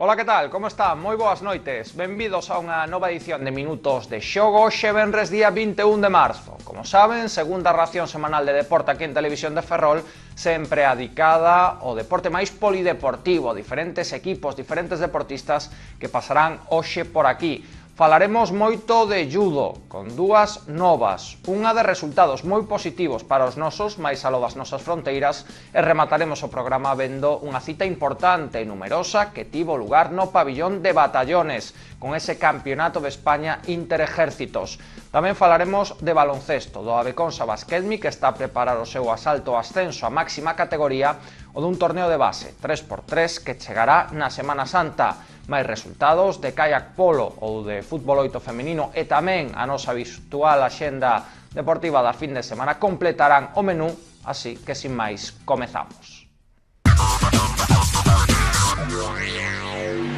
Ola, que tal? Como está? Moi boas noites. Benvidos a unha nova edición de Minutos de Xogo, hoxe venres día 21 de marzo. Como saben, segunda ración semanal de deporte aquí en Televisión de Ferrol, sempre adicada ao deporte máis polideportivo, diferentes equipos, diferentes deportistas que pasarán hoxe por aquí. Falaremos moito de judo, con dúas novas, unha de resultados moi positivos para os nosos, máis aló das nosas fronteiras, e remataremos o programa vendo unha cita importante e numerosa que tivo lugar no pabillón de batallones, con ese campeonato de España interejércitos. Tamén falaremos de baloncesto, do Aveconsa Basquetmi, que está a preparar o seu asalto ao ascenso á máxima categoría, o dun torneo de base 3x3 que chegará na Semana Santa. Máis resultados de kayak polo ou de fútbol 8 femenino e tamén a nosa habitual axenda deportiva da fin de semana completarán o menú, así que sin máis comezamos.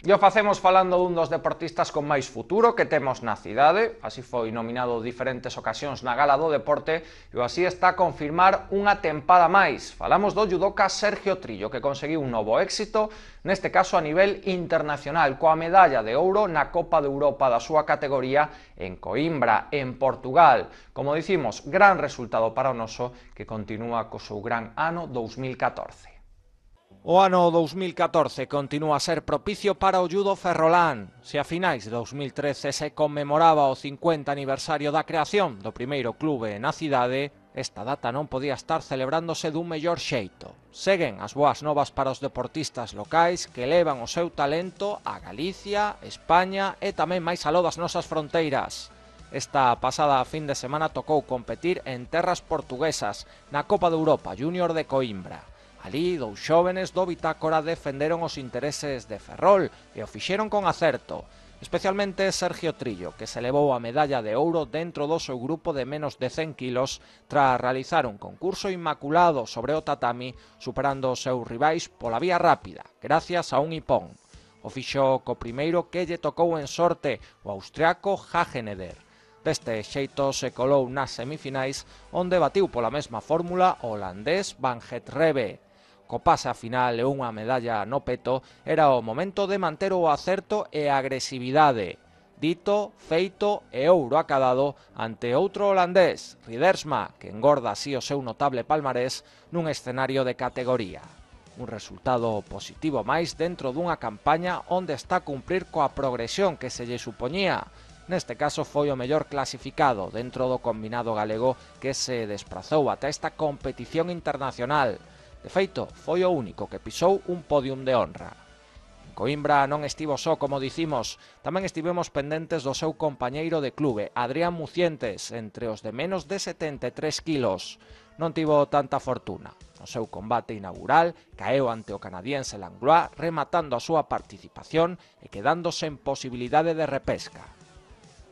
E o facemos falando dun dos deportistas con máis futuro que temos na cidade, así foi nominado diferentes ocasións na Gala do Deporte e así está a confirmar unha tempada máis. Falamos do judoka Sergio Trillo, que conseguiu un novo éxito, neste caso a nivel internacional, coa medalla de ouro na Copa de Europa da súa categoría en Coimbra, en Portugal. Como dicimos, gran resultado para o noso que continúa co seu gran ano 2014. O ano 2014 continúa a ser propicio para o judo ferrolán. Se a finais de 2013 se conmemoraba o 50 aniversario da creación do primeiro clube na cidade, esta data non podía estar celebrándose dun mellor xeito. Seguen as boas novas para os deportistas locais que elevan o seu talento a Galicia, España e tamén máis aló das nosas fronteiras. Esta pasada fin de semana tocou competir en terras portuguesas na Copa de Europa Júnior de Coimbra. Alí, dous xóvenes do Bitácora defenderon os intereses de Ferrol e o fixeron con acerto, especialmente Sergio Trillo, que se levou a medalla de ouro dentro do seu grupo de menos de 100 kilos tras realizar un concurso inmaculado sobre o tatami, superando os seus rivais pola vía rápida, gracias a un hipón. O fixo co primeiro que lle tocou en sorte, o austriaco Hageneder. Deste xeito se colou nas semifinais, onde batiu pola mesma fórmula o holandés Van Het Rebe. Co pase a final e unha medalla no peto, era o momento de manter o acerto e a agresividade. Dito, feito e ouro acadado ante outro holandés, Ridersma, que engorda así o seu notable palmarés nun escenario de categoría. Un resultado positivo máis dentro dunha campaña onde está a cumprir coa progresión que se lle supoñía. Neste caso foi o mellor clasificado dentro do combinado galego que se desprazou ata esta competición internacional. De feito, foi o único que pisou un podium de honra. En Coimbra non estivo só, como dicimos, tamén estivemos pendentes do seu compañeiro de clube, Adrián Mucientes, entre os de menos de 73 kilos. Non tivo tanta fortuna. No seu combate inaugural, caeu ante o canadiense Langlois, rematando a súa participación e quedándose en posibilidade de repesca.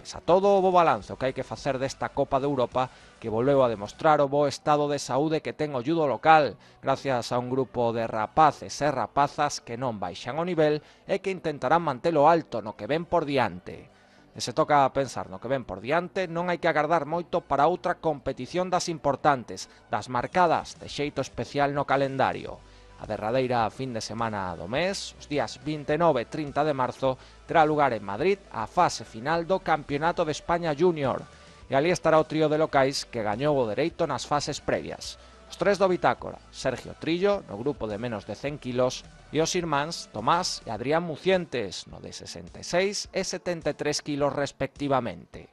Pese a todo o bo balanzo que hai que facer desta Copa de Europa, que volveu a demostrar o bo estado de saúde que ten o judo local, gracias a un grupo de rapaces e rapazas que non baixan o nivel e que intentarán mantelo alto no que ven por diante. E se toca pensar no que ven por diante, non hai que agardar moito para outra competición das importantes, das marcadas de xeito especial no calendario. A derradeira fin de semana do mes, os días 29 e 30 de marzo, terá lugar en Madrid a fase final do Campeonato de España Júnior. E ali estará o trío de locais que gañou o dereito nas fases previas. Os tres do Bitácora, Sergio Trillo, no grupo de menos de 100 kilos, e os irmáns Tomás e Adrián Mucientes, no de 66 e 73 kilos respectivamente.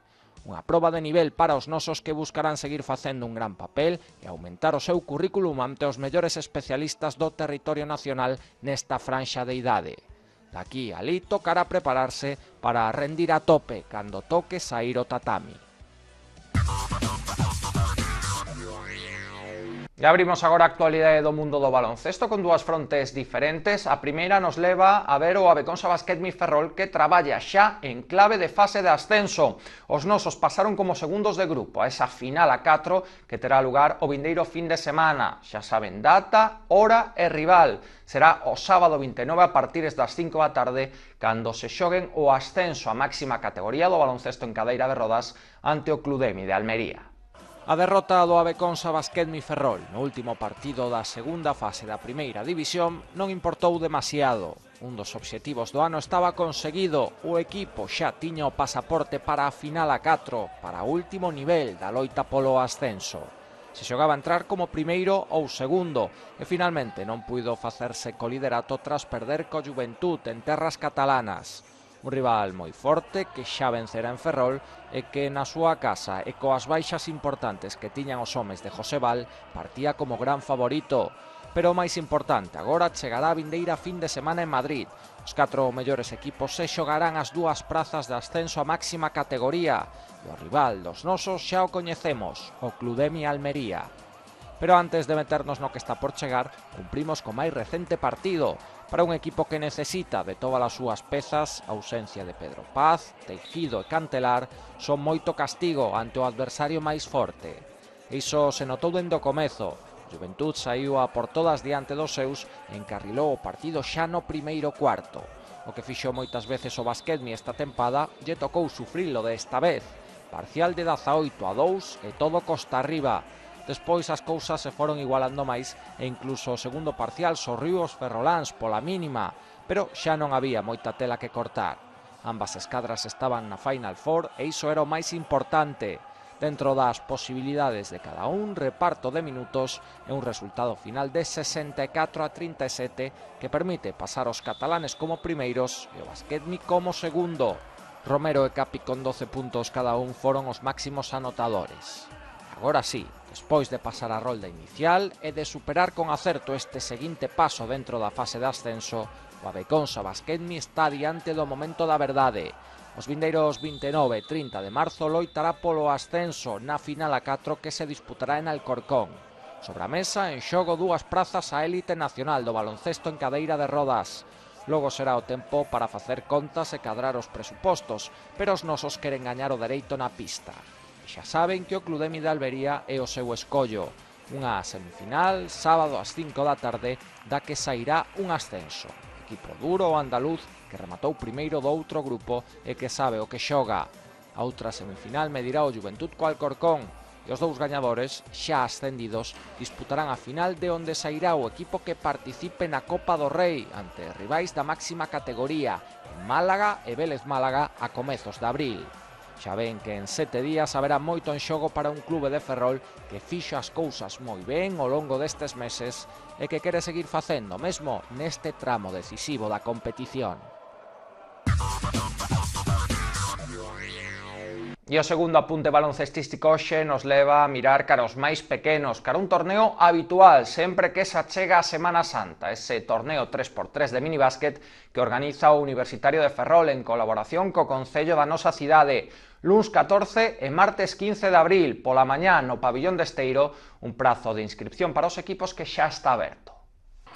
Unha proba de nivel para os nosos que buscarán seguir facendo un gran papel e aumentar o seu currículum ante os mellores especialistas do territorio nacional nesta franxa de idade. Daqui a alí tocará prepararse para rendir a tope cando toque sair o tatami. E abrimos agora a actualidade do mundo do baloncesto con dúas frontes diferentes. A primeira nos leva a ver o Aveconsa Basquetmi Ferrol que traballa xa en clave de fase de ascenso. Os nosos pasaron como segundos de grupo a esa final a 4 que terá lugar o vindeiro fin de semana. Xa saben data, hora e rival. Será o sábado 29 a partir das 5 da tarde cando se xoguen o ascenso á máxima categoría do baloncesto en cadeira de rodas ante o Cludemi de Almería. A derrota do Aveconsa Basquetmi Ferrol no último partido da segunda fase da primeira división non importou demasiado. Un dos obxectivos do ano estaba conseguido, o equipo xa tiña o pasaporte para a final a 4, para o último nivel da loita polo ascenso. Se xogaba a entrar como primeiro ou segundo, e finalmente non puido facerse co liderato tras perder co Juventud en terras catalanas. Un rival moi forte que xa vencerá en Ferrol e que na súa casa e coas baixas importantes que tiñan os homes de José Val partía como gran favorito. Pero o máis importante agora chegará a vindeira fin de semana en Madrid. Os 4 mellores equipos se xogarán as 2 prazas de ascenso a máxima categoría e o rival dos nosos xa o coñecemos, o Cludemi Almería. Pero antes de meternos no que está por chegar, cumprimos co máis recente partido. Para un equipo que necesita de todas as súas pezas, a ausencia de Pedro Paz, Teijido e Cantelar son moito castigo ante o adversario máis forte. Iso se notou dende o comezo. Juventud saiu a por todas diante dos seus e encarrilou o partido xa no primeiro cuarto. O que fixo moitas veces o Basquetmi esta tempada lle tocou sufrilo desta vez. Parcial de 18-2 e todo costa arriba. Despois as cousas se foron igualando máis e incluso o segundo parcial sorriu os ferroláns pola mínima, pero xa non había moita tela que cortar. Ambas escadras estaban na Final Four e iso era o máis importante. Dentro das posibilidades de cada un, reparto de minutos e un resultado final de 64-37 que permite pasar os catalanes como primeiros e o Basquetmi como segundo. Romero e Capi con 12 puntos cada un foron os máximos anotadores. Agora sí, despois de pasar a rolda inicial e de superar con acerto este seguinte paso dentro da fase de ascenso, o Abeconsa Basquetmi está diante do momento da verdade. Os vindeiros 29 e 30 de marzo loitará polo ascenso na final a 4 que se disputará en Alcorcón. Sobre a mesa, en xogo 2 prazas á élite nacional do baloncesto en cadeira de rodas. Logo será o tempo para facer contas e cadrar os presupostos, pero os nosos queren gañar o dereito na pista. Xa saben que o Cludemi de Almería é o seu escollo. Unha semifinal, sábado ás 5 da tarde, da que sairá un ascenso. Equipo duro o andaluz que rematou primeiro do outro grupo e que sabe o que xoga. A outra semifinal medirá o Juventud co Alcorcón e os 2 gañadores, xa ascendidos, disputarán a final de onde sairá o equipo que participe na Copa do Rei ante rivais da máxima categoría en Málaga e Vélez Málaga a comezos de abril. Xa ven que en 7 días haberá moito en xogo para un clube de Ferrol que fixo as cousas moi ben ao longo destes meses e que quere seguir facendo mesmo neste tramo decisivo da competición. E o segundo apunte baloncestístico hoxe nos leva a mirar cara aos máis pequenos, cara un torneo habitual sempre que se achega a Semana Santa, ese torneo 3x3 de minibásquet que organiza o Universitario de Ferrol en colaboración co Concello da nosa cidade. Luns 14 e martes 15 de abril, pola mañá no pabillón de Esteiro, un prazo de inscripción para os equipos que xa está aberto.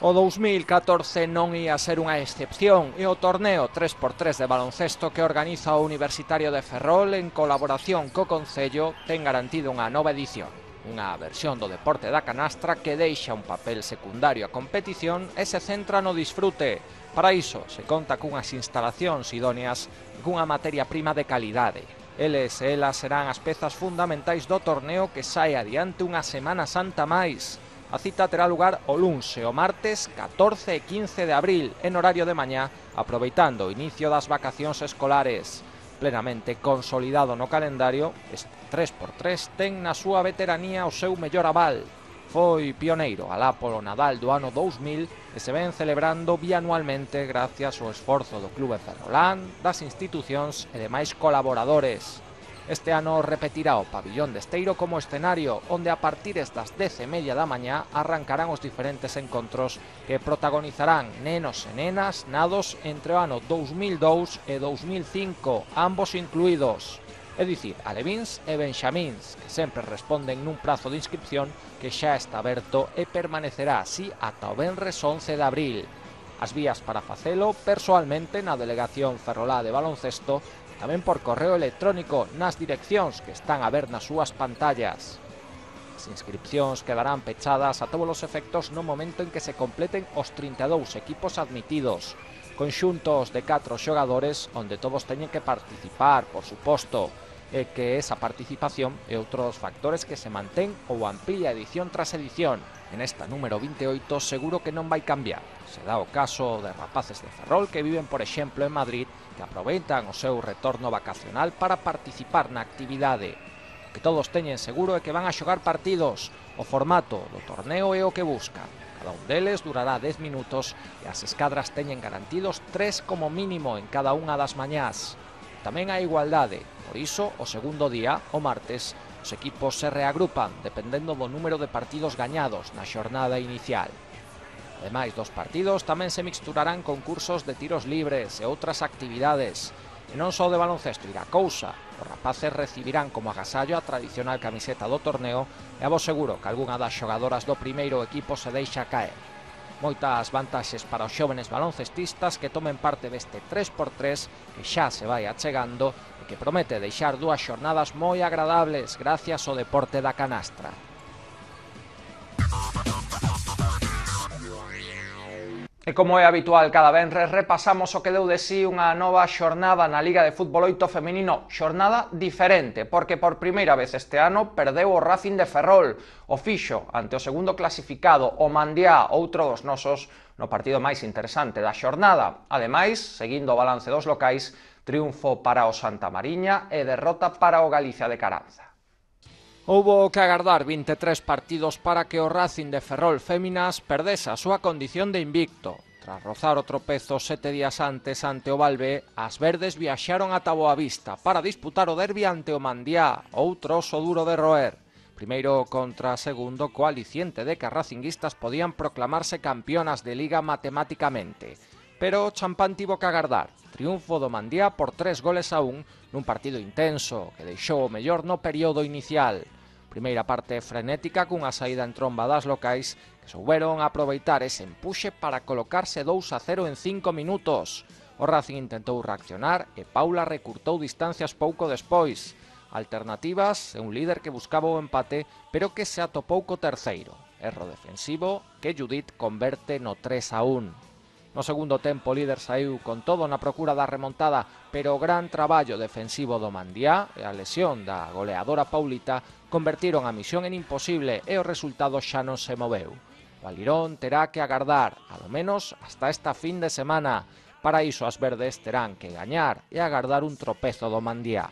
O 2014 non ia ser unha excepción e o torneo 3x3 de baloncesto que organiza o Universitario de Ferrol en colaboración co Concello ten garantido unha nova edición. Unha versión do deporte da canastra que deixa un papel secundario á competición e se centra no disfrute. Para iso se conta cunhas instalacións idóneas e cunha materia prima de calidade. Eles e elas serán as pezas fundamentais do torneo que sae adiante unha Semana Santa máis. A cita terá lugar o luns e o martes 14 e 15 de abril en horario de mañá, aproveitando o inicio das vacacións escolares. Plenamente consolidado no calendario, este 3x3 ten na súa veteranía o seu mellor aval. Foi pioneiro alá polo Nadal do ano 2000 e se ven celebrando bianualmente gracias ao esforzo do Clube Ferrolán, das institucións e demais colaboradores. Este ano repetirá o pabillón de Esteiro como escenario, onde a partir das 10:30 da mañá arrancarán os diferentes encontros que protagonizarán nenos e nenas nados entre o ano 2002 e 2005, ambos incluídos. É dicir, alevíns e benxamíns, que sempre responden nun prazo de inscripción que xa está aberto e permanecerá así ata o venres 11 de abril. As vías para facelo persoalmente na Delegación Ferrolá de Baloncesto, tamén por correo electrónico nas direccións que están a ver nas súas pantallas. As inscripcións quedarán pechadas a todos os efectos no momento en que se completen os 32 equipos admitidos, conxuntos de 4 xogadores onde todos teñen que participar, por suposto. é que esa participación é outro dos factores que se mantén ou amplía edición tras edición. En esta número 28 seguro que non vai cambiar. Se dá o caso de rapaces de Ferrol que viven, por exemplo, en Madrid, que aproveitan o seu retorno vacacional para participar na actividade. O que todos teñen seguro é que van a xogar partidos. O formato do torneo é o que buscan. Cada un deles durará 10 minutos e as escadras teñen garantidos 3 como mínimo en cada unha das mañás. Tamén hai igualdade, por iso, o segundo día, o martes, os equipos se reagrupan dependendo do número de partidos gañados na xornada inicial. Ademais dos partidos, tamén se mixturarán concursos de tiros libres e outras actividades. E non só de baloncesto irá cousa. Os rapaces recibirán como agasallo a tradicional camiseta do torneo e a vos seguro que algunha das xogadoras do primeiro equipo se deixa caer. Moitas vantaxes para os xóvenes baloncestistas que tomen parte deste 3x3 que xa se vai achegando e que promete deixar 2 xornadas moi agradables gracias ao deporte da canastra. E como é habitual cada venres, repasamos o que deu de sí unha nova xornada na Liga de Fútbol 8 femenino, xornada diferente, porque por primeira vez este ano perdeu o Racing de Ferrol, o fixo ante o segundo clasificado, o Mandiá, outro dos nosos, no partido máis interesante da xornada. Ademais, seguindo o balance dos locais, triunfo para o Santa Mariña e derrota para o Galicia de Caranza. Houbo que agardar 23 partidos para que o Racing de Ferrol Féminas perdese a súa condición de invicto. Tras rozar o tropezo 7 días antes ante o Valve, as verdes viaxaron ata Boavista para disputar o derbi ante o Mandiá, outro oso duro de roer. Primeiro contra segundo, co aliciente de que as racinguistas podían proclamarse campeonas de Liga matemáticamente. Pero o champán tivo que agardar. Triunfo do Mandiá por 3-1 nun partido intenso que deixou o mellor no período inicial. Primeira parte frenética cunha saída en tromba das locais que souberon aproveitar ese empuxe para colocarse 2-0 en 5 minutos. O Racing intentou reaccionar e Paula recurtou distancias pouco despois. Alternativas e un líder que buscaba o empate pero que se atopou co terceiro. Erro defensivo que Judith converte no 3-1. No segundo tempo o líder saiu con todo na procura da remontada, pero o gran traballo defensivo do Mandiá e a lesión da goleadora Paulita convertiron a misión en imposible e o resultado xa non se moveu. O Alirón terá que agardar, alo menos hasta esta fin de semana. Para iso as verdes terán que gañar e agardar un tropezo do Mandiá.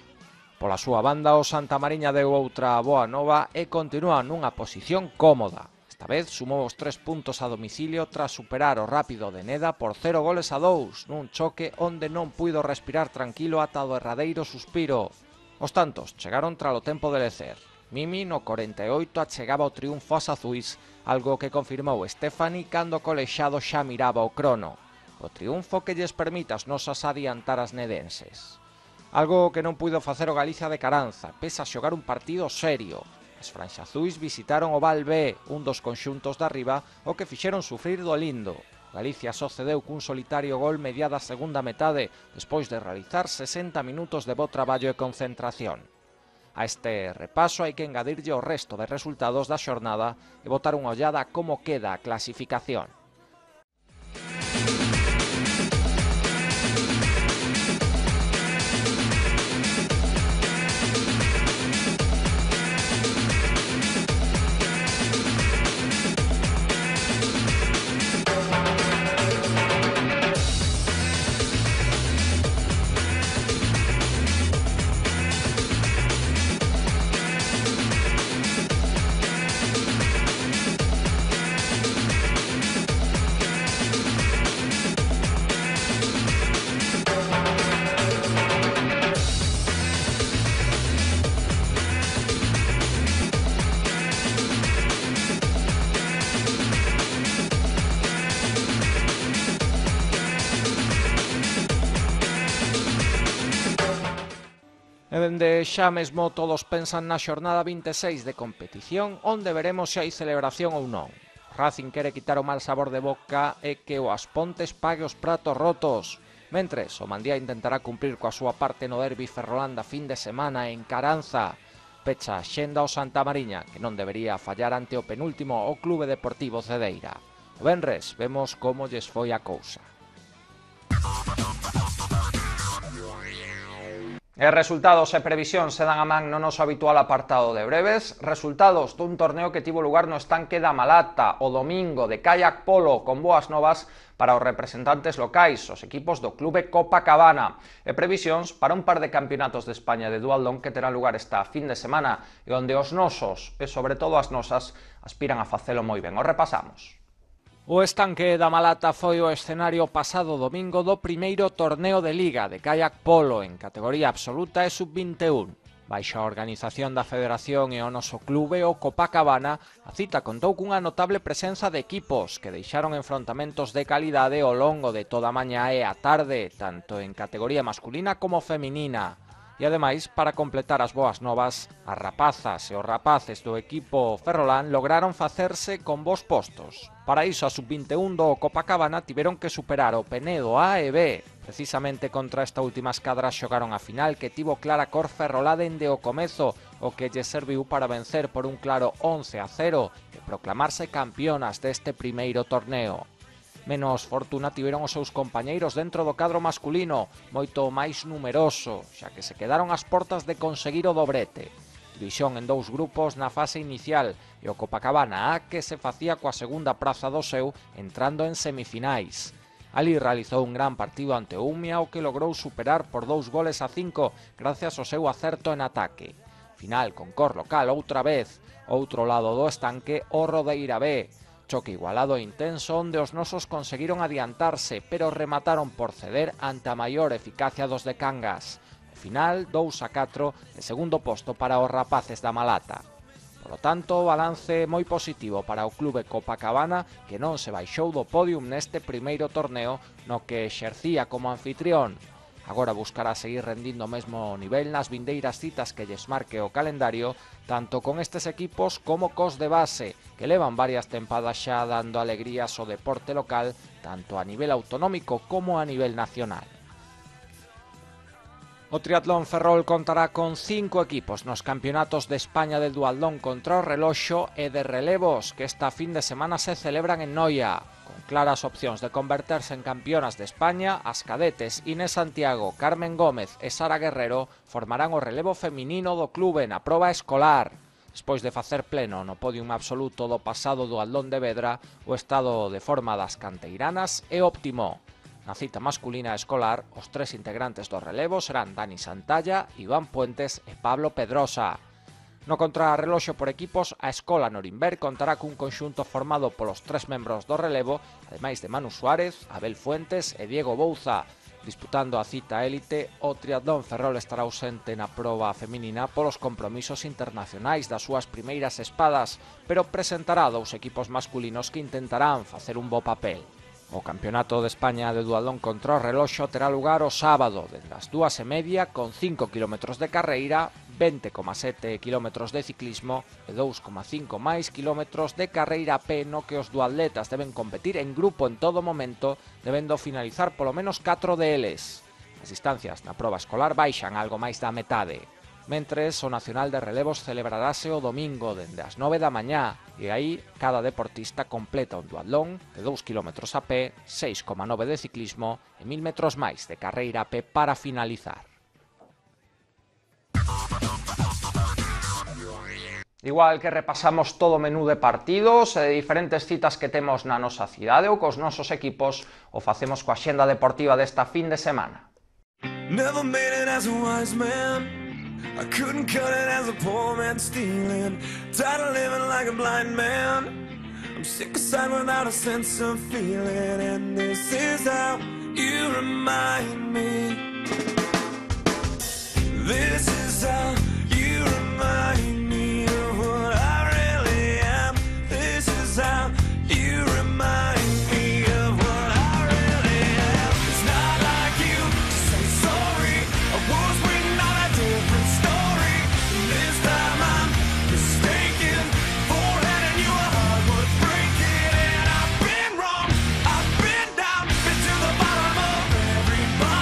Pola súa banda o Santa Mariña deu outra boa nova e continúa nunha posición cómoda. Esta vez sumou os 3 puntos a domicilio tras superar o Rápido de Neda por 0-2 nun choque onde non puido respirar tranquilo ata o derradeiro suspiro. Os tantos chegaron tralo tempo de lecer. Mimi no 48 achegaba o triunfo ás azuis, algo que confirmou Stephanie cando o colexado xa miraba o crono. O triunfo que lles permite as nosas adiantar as nedenses. Algo que non puido facer o Galicia de Caranza, pese a xogar un partido serio. As franxazuis visitaron o Valve, un dos conxuntos de arriba, o que fixeron sufrir do lindo. Galicia só cedeu cun solitario gol mediada a segunda metade, despois de realizar 60 minutos de bo traballo e concentración. A este repaso hai que engadirlle o resto de resultados da xornada e botar unha ollada a como queda a clasificación. E dende xa mesmo todos pensan na xornada 26 de competición, onde veremos se hai celebración ou non. Racing quere quitar o mal sabor de boca e que o Aspontes pague os pratos rotos. Mentres, o Mandía intentará cumplir coa súa parte no derbi ferrolanda fin de semana en Caranza. Pecha a xenda o Santa Mariña, que non debería fallar ante o penúltimo o Clube Deportivo Cedeira. O venres vemos como lles foi a cousa. Resultados e previsións se dan a man no noso habitual apartado de breves. Resultados dun torneo que tivo lugar no estanque da Malata o domingo de kayak polo, con boas novas para os representantes locais, os equipos do Clube Copacabana, e previsións para un par de campeonatos de España de duatlón que terán lugar esta fin de semana e onde os nosos, e sobre todo as nosas, aspiran a facelo moi ben. Os repasamos. O estanque da Malata foi o escenario pasado domingo do primeiro torneo de Liga de kayak polo en categoría absoluta e sub-21. Baixo a organización da Federación e o noso clube, o Copacabana, a cita contou cunha notable presenza de equipos que deixaron enfrontamentos de calidade ao longo de toda a mañá e a tarde, tanto en categoría masculina como feminina. E ademais, para completar as boas novas, as rapazas e os rapaces do equipo ferrolán lograron facerse con bons postos. Para iso, a sub-21 do Copacabana tiveron que superar o Penedo A e B. Precisamente contra esta última escadra xogaron a final que tivo clara cor ferrolá dende o comezo, o que lle serviu para vencer por un claro 11-0 e proclamarse campeonas deste primeiro torneo. Menos fortuna tiveron os seus compañeiros dentro do cadro masculino, moito máis numeroso, xa que se quedaron ás portas de conseguir o dobrete. División en dous grupos na fase inicial e o Copacabana A que se facía coa segunda praza do seu entrando en semifinais. Ali realizou un gran partido ante o Umia, o que logrou superar por 2-5 gracias ao seu acerto en ataque. Final con cor local outra vez, outro lado do estanque o Rodeira B. Choque igualado e intenso onde os nosos conseguiron adiantarse, pero remataron por ceder ante a maior eficacia dos de Cangas. O final, 2-4, e segundo posto para os rapaces da Malata. Por lo tanto, balance moi positivo para o Clube Copacabana, que non se baixou do podium neste primeiro torneo no que exercía como anfitrión. Agora buscará seguir rendindo o mesmo nivel nas vindeiras citas que lles marque o calendario, tanto con estes equipos como cos de base, que levan varias tempadas xa dando alegrías ao deporte local, tanto a nivel autonómico como a nivel nacional. O triatlón Ferrol contará con 5 equipos nos campeonatos de España de duatlón contra o reloxo e de relevos que esta fin de semana se celebran en Noia. Con claras opcións de converterse en campeonas de España, as cadetes Inés Santiago, Carmen Gómez e Sara Guerrero formarán o relevo feminino do clube na proba escolar. Despois de facer pleno no podium absoluto do pasado duatlón de Vedra, o estado de forma das canteiranas é óptimo. Na cita masculina escolar, os 3 integrantes do relevo serán Dani Santalla, Iván Puentes e Pablo Pedrosa. No contrarreloxo por equipos, a Escola Norimberg contará cun conxunto formado polos 3 membros do relevo, ademais de Manu Suárez, Abel Fuentes e Diego Bouza. Disputando a cita élite, o triatlón Ferrol estará ausente na proba feminina polos compromisos internacionais das súas primeiras espadas, pero presentará 2 equipos masculinos que intentarán facer un bo papel. O Campeonato de España de duatlón contra o reloxo terá lugar o sábado, desde as 2:30, con 5 km de carreira, 20,7 km de ciclismo e 2,5 máis km de carreira a pé, no que os duatletas deben competir en grupo en todo momento, debendo finalizar polo menos 4 deles. As distancias na proba escolar baixan algo máis da metade. Mentres, o Nacional de Relevos celebrarase o domingo dende as 9 da mañá e aí cada deportista completa un duatlón de 2 km a pé, 6,9 de ciclismo e 1000 metros máis de carreira a pé para finalizar. Igual que repasamos todo o menú de partidos e de diferentes citas que temos na nosa cidade ou cos nosos equipos, o facemos coa xenda deportiva desta fin de semana. Never made it as a wise man. I couldn't cut it as a poor man stealing. Tired of living like a blind man. I'm sick aside without a sense of feeling. And this is how you remind me. This is how you remind me of what I really am. This is how you remind me of what I really am. It's not like you to say sorry. I was waiting on a different story. This time I'm mistaken for handing you a heart worth breaking. And I've been wrong, I've been down, been to the bottom of every bottle.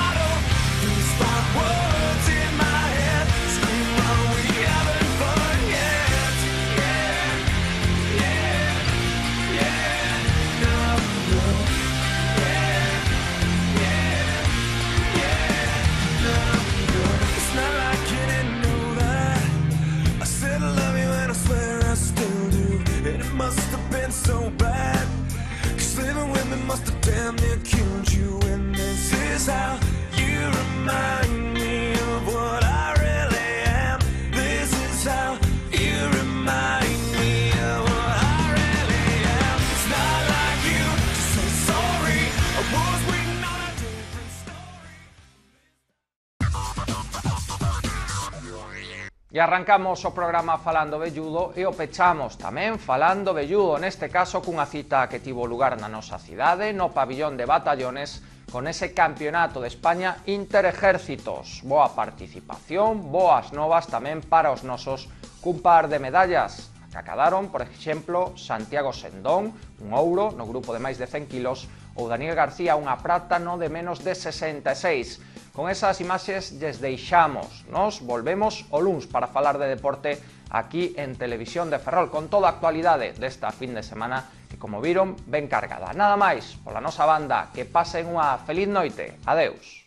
E arrancamos o programa falando velludo e o pechamos tamén falando velludo, neste caso cunha cita que tivo lugar na nosa cidade, no pabillón de Batallones, con ese campeonato de España interejércitos. Boa participación, boas novas tamén para os nosos cun par de medallas, que acadaron, por exemplo, Santiago Sendón, un ouro no grupo de máis de 100 kilos, ou Daniel García unha prata no de menos de 66. Con esas imaxes lles deixamos, nos volvemos o luns para falar de deporte aquí en Televisión de Ferrol, con toda a actualidade desta fin de semana que, como viron, ben cargada. Nada máis, pola nosa banda, que pasen unha feliz noite. Adeus.